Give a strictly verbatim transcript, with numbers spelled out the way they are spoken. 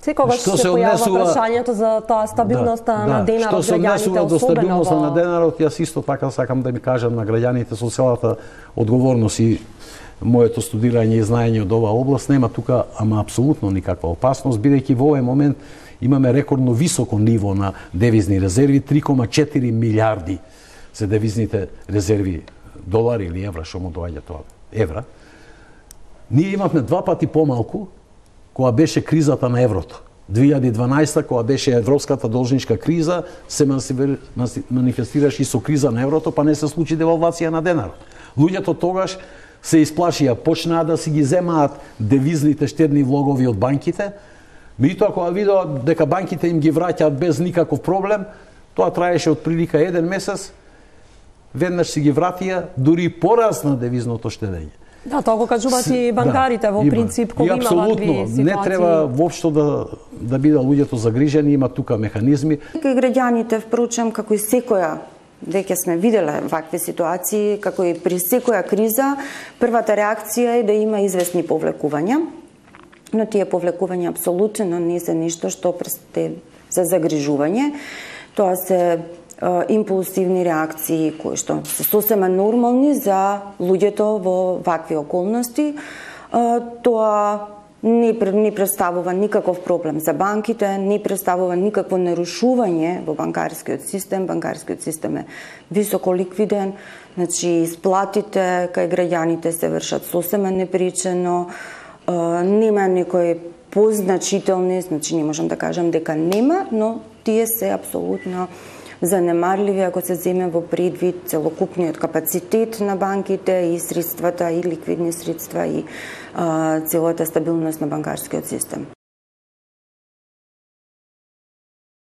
Секогаш се, се појавува прашањето за таа стабилноста да, на денарот, што се однесува до стабилноста во... на денарот, јас исто така сакам да ми кажам на граѓаните со целата одговорност и моето студирање и знаење од оваа област, нема тука ама апсолутно никаква опасност, бидејќи во овој момент имаме рекордно високо ниво на девизни резерви, три кома четири милиарди се девизните резерви, долари или евра, што му доаѓа тоа, евра. Ние имавме два пати помалку кога беше кризата на еврото. две илјади и дванаесета, кога беше европската должничка криза, се манифестираше и со криза на еврото, па не се случи девалвација на денарот. Луѓето тогаш се исплашија, почнаа да си ги земаат девизните штедни влогови од банките, меѓутоа кога видоа дека банките им ги враќаат без никаков проблем, тоа траеше од прилика еден месец, веднаш си ги вратија, дури порасна девизното штедење. Да, тоа го кажуваат и банкарите, да, во принцип, кога има вакви ситуации. Не треба воопшто да, да бидат луѓето загрижени, има тука механизми. И граѓаните, впрочем, како и секоја, веќе сме виделе вакви ситуации, како и при секоја криза, првата реакција е да има известни повлекувања, но тие повлекувања апсолутно не се нешто што престе за загрижување. Тоа се импулсивни реакции кои што се сосема нормални за луѓето во вакви околности. Тоа не, не представува никаков проблем за банките, не представува никакво нарушување во банкарскиот систем. Банкарскиот систем е високо ликвиден, значи исплатите кај граѓаните се вршат сосема непричено, нема некои позначителни, значи не можам да кажам дека нема, но тие се апсолутно занемарливи ако се земе во предвид целокупниот капацитет на банките и средствата, и ликвидни средства, и а, целата стабилност на банкарскиот систем.